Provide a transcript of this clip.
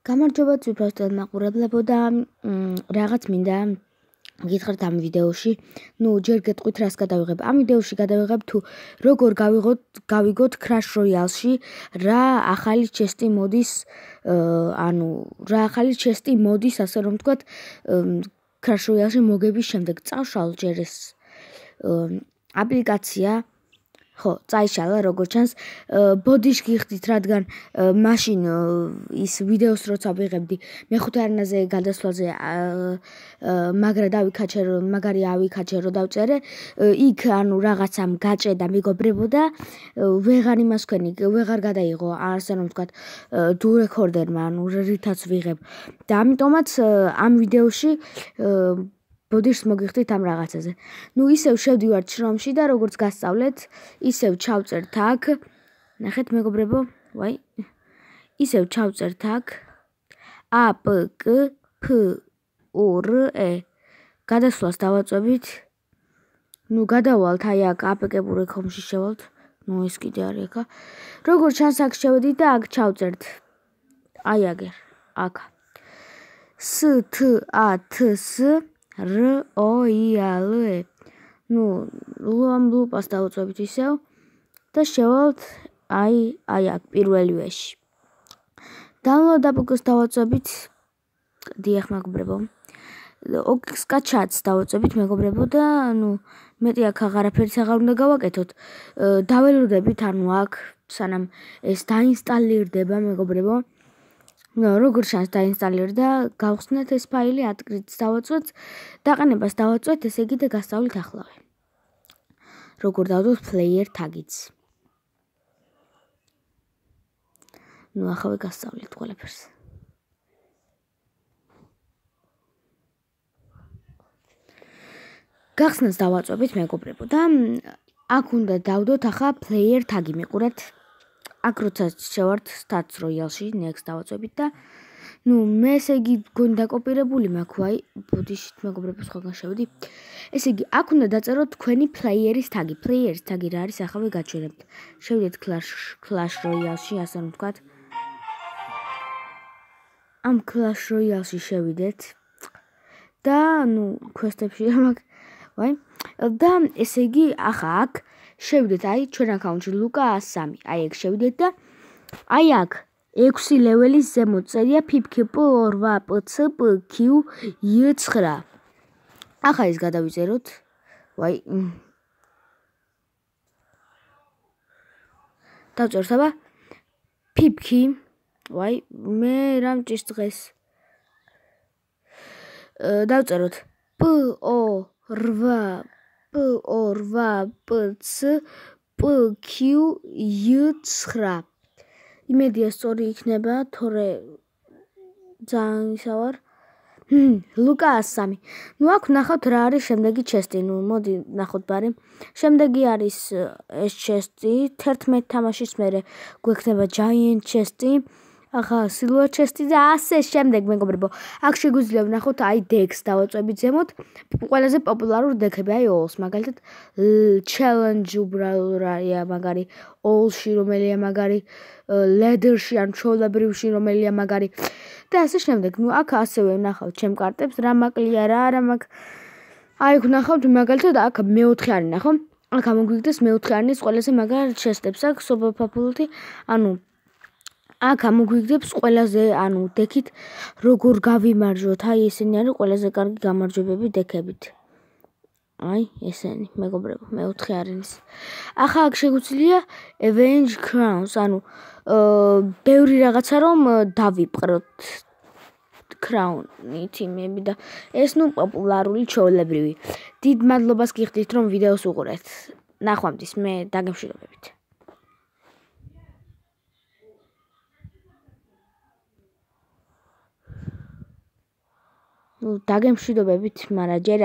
გამარჯობა ძვირფასად მაყურებლებო და რაღაც მინდა გითხრათ ამ ვიდეოში. ჯერ გეტყვით რას გადავიღებ. ამ ვიდეოში გადავიღებ თუ როგორ გავიგოთ Crash Royale-ში რა ახალი ჩესტი მოდის, რა ახალი ჩესტი მოდის, ასე რომ ვთქვათ, Crash Royale-ში მოგების შემდეგ. წავშალ ჯერ ეს აპლიკაცია. ხო, წაიშალა, როგორც ჩანს, ბოდიშ გიხდით, რადგან მაშინ ის ვიდეოს როცა ვიღებდი, მეხუთე არნაზე გადასვლაზე მაგარი ავიქაჩე, რომ დავწერე, იქ რაღაცამ გაჭედა, მეგობრებო და ვეღარ გადაიღო, ასე რომ ვთქვათ, თუ რეკორდერმა, რითაც ვიღებ. და ამიტომაც ამ ვიდეოში ბოდიშს მოგიხდით ამ რაღაცაზე. ისევ შევდივართ შრომში და როგორც გასწავლეთ, ისევ ჩავწერთ აქ. ნახეთ მეგობრებო, ისევ ჩავწერთ აქ APK-PURE. გადასვლას დავაწვევით. გადავალთ აი აქ APK-PURE-ში შევალთ. ეს კიდე არის აქ. როგორც ჩანს აქ შევედით და აქ ჩავწერთ. აი აგერ, აქ. STATS ROYALE. ლუპას დავაწვევით ისევ და შევალთ აი აქ პირველივეში. Download APK-ს დავაწვევით. დიახ მეგობრებო. Sketch-ს დავაწვევით მეგობრებო და მეტი აქ აღარაფერიც აღარ უნდა გავაკეთოთ. დაველოდებით აქ სანამ ეს დაინსტალირდება მეგობრებო. როგორც ჩანს დაინსტალირდა, გავხსნათ ეს ფაილი, ატკრიც დავაწვეთ, დაყენებას დავაწვეთ, ესე იგი და გასწავლით ახლავე. როგორ დავდოთ player tag-იც. ახავე გასწავლით ყველაფერს. გახსნას დავაწვევით მეგობრებო და აქ უნდა დავდოთ ახლა player tag-ი მიყურეთ. აქ როცა შევართ Stats Royale-ში, next დავაწვევით და მე ესე იგი გონი დაკოპირებული მაქვს, ბოდიშით მეგობრებო სხვაგან შევედი. ესე იგი, აქ უნდა დაწეროთ თქვენი player-ის tag-ი. Player-ის tag-ი რა არის, ახლა გაჩვენებთ. შევიდეთ Clash Royale-ში, ასე რომ ვთქვათ. ამ Clash Royale-ში შევიდეთ და quest-ებში ამაკ და ესე იგი, ახლა აქ შევიდეთ, აი ჩვენ აკაუნტში ლუკა 103. აი ეგ შევიდეთ და აი აქ 6 ლეველის ზემოთ წერია PIPK-PORVAPCPQ-9. ახლა ის გადავიწეროთ. დავწეროთ აბა PIPK. მე რა მჭირს დღეს. დავწეროთ PORVAPCPQ-9. იმედია სწორი იქნება, თორე ძალიან ისა ვარ. ლუკა 103. აქ ნახავთ რა არის შემდეგი ჩესტი. მოდი ნახოთ ბარი. შემდეგი არის ეს ჩესტი. 11 თამაშის მერე გვექნება Giant ჩესტი. ახლა Silver ჩესტი და ასე შემდეგ მეგობრებო. აქ შეგვიძლია ვნახოთ აი decks დავაწვევით ზემოთ. ყველაზე პოპულარული deck-ები აი Alls, მაგალითად Challenge უბრალოდ მაგარი, Alls-ში რომელია მაგარი, Ladder-ში ან ჩვეულებრივში რომელია მაგარი და ასე შემდეგ. აქ ასევე ვნახავთ ჩემ კარტებს, რა მაკლია, რა არა მაქვს. აი აქ ვნახავთ მაგალითად აქ მეოთხე არის ნახო. აქ ამოგვიგდეს მეოთხე არის ყველაზე მაგარ ჩესტებს აქ super popularity, აქ ამოგვიგდებს ყველაზე, დექით როგორ გავიმარჯვოთ. აი ესენი არის ყველაზე კარგი გამარჯვებები დექებით. აი ესენი მეგობრებო, მეოთხე არის. ახლა აქ შეგვიძლია Avenge Crowns, ბევრი რაღაცა რომ დავიპყროთ Crown-ი თიმები და ეს პოპულარული ჩვეულებრივი. დიდ მადლობას გიხდით რომ ვიდეოს უყურეთ. ნახვამდის, მე დაგემშვიდობებით. დაგემშვიდობებით, მაგრამ ჯერ